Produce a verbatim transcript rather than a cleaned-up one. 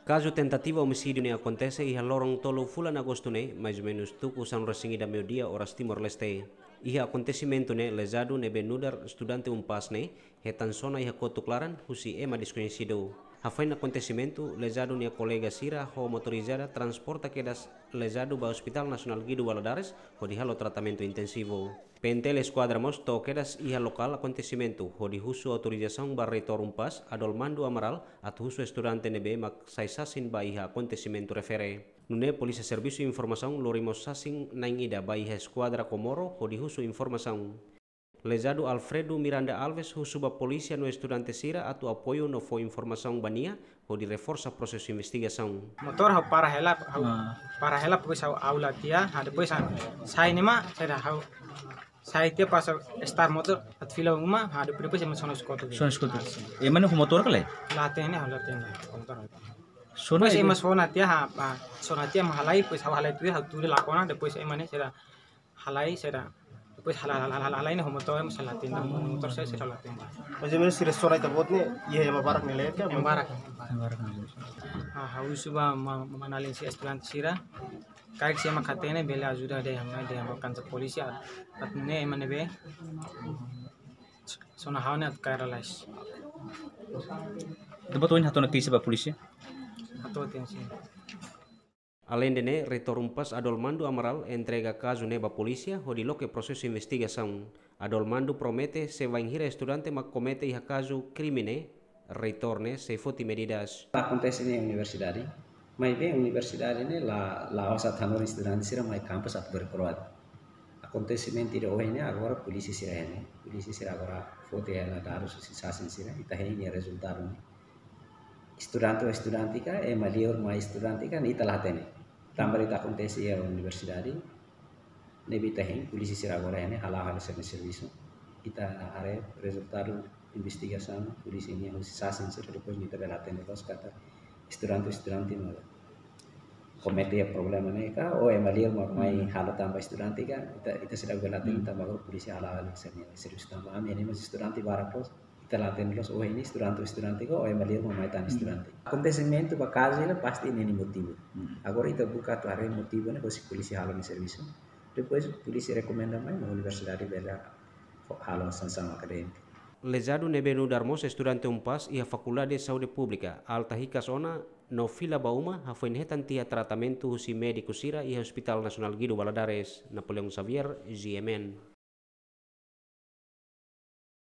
Kazu tentativa omisídiu ne'e akontese iha loron tolu fulan Agostu ne'e, mais ou menus tuku sanulu-resin-ida meiudia oras Timor-Leste. Iha akontesimentu ne'e lezadu ne'ebé nu'udar estudante UNPAZ ne'e hetan sona iha kotuk laran husi ema deskoñesidu. Hafoin akontesimentu, lezadu nia kolega sira ho motorizada transporta kedas lezadu ba Hospital Nasionál Guido Valadares hodi halo tratamentu intensivu. P N T L Eskuadra mós to'o kedas iha lokál akontesimentu hodi husu autorizasaun ba Reitór UNPAZ, Adolmando Amaral, atu husu estudante ne'ebé mak sai sasin ba iha akontesimentu refere. Nune'e Polísia Servisu Informasaun lori mós sasin na'in ida ba iha Eskuadra Comoro hodi husu informasaun. Lezadu Alfredo Miranda Alves husu ba polísia no estudante sira atu apoiu no fó informasaun ba nia hodi reforsa prosesu investigasaun. Motór ha'u para hela, ha'u Ah. para hela, depois ha'u aula tiha, ha, depois ha'u sai ne'e mak, sai dah ha'u sai tiha pas ha'u start motór, atu fila uma, ha, depois, depois ema sona skotu. Sona skotu. Ah, sin. Ema ne'e ho motór ka lae? La hatene, ha'u la hatene, motór. Sona Depois ema ema sona tiha, ha, ha, sona tiha mak halai, depois ha'u halai tuir, ha'u tuir lakon ona, depois ema ne'e sira halai sira. Depois halai, halai, halai, halai ne'e ho motór ema sira la hatene, motór sira, sira la hatene. Mais ou menus sira sona ita-boot ne'e, iha ema barak ne'e leten, Ema barak, ema barak. Ema barak ne'e. Ah, ha'u husu ba ma-, ma-, manalin sira estudante sira. Karik se ema hatene bele ajuda dehan mai dehan ba kantor polísia. Atu nune'e ema ne'ebé sona ha'u ne'e atu kaer lalais. Ita-boot ohin hato'o ona keixa ba polísia? Hato'o tiha ona, sin. Aleinde ne'e, Reitór UNPAZ Adolmando Amaral entrega kazu ne'e ba polísia hodi loke prosesu investigasaun. Adolmando promete se bainhira estudante mak komete iha kazu krime ne'e, reitór ne'e sei foti medidas. Akontese iha universidade, maibé universidade ne'e la, la'ós atu hanorin estudante sira mai kampus atu berproat. Akontesimentu ida ohin ne'e agora polísia sira iha ne'e, polísia sira agora foti hela dadus husi sasin sira, ita hein nia rezultadu ne'e. Estudante ou estudante ka, ema liur mai estudante ka, ita la hatene. Tanba ita akontese iha universidade, ne'ebé ita hein, polísia sira agora iha ne'e hala'o halo sira-nia servisu. Ita haree rezultadu investigasaun, polísia nian husi sasin sira, depois ita bele hatene loos katak estudante, estudante mak komete problema ne'e ka, ou ema liur mak mai halo tanba estudante ka, ita, ita seidauk bele hatene tanba agora polísia hala'o halo sira-nia servisu tanba ami ne'e mós estudante barak loos, ita la hatene loos, ohin ne'e estudante, estudante ka, ou ema liur mak mai tan estudante. Akontesimentu ba kazu ne'e pasti iha nia motivu. Agora ita buka atu haree motivu ne'e, husi polísia halo nia servisu. Depois polísia rekomenda mai, mak universidade bele halo sansaun akadémika. Lezadu ne'ebé nu'udar mós estudante UNPAZ iha Fakuldade Saúde Públika, alta hikas ona no fila ba uma, hafoin hetan tiha tratamentu husi médiku sira iha Hospital Nasionál Guido Valadares. Napoleão Xavier, G M N.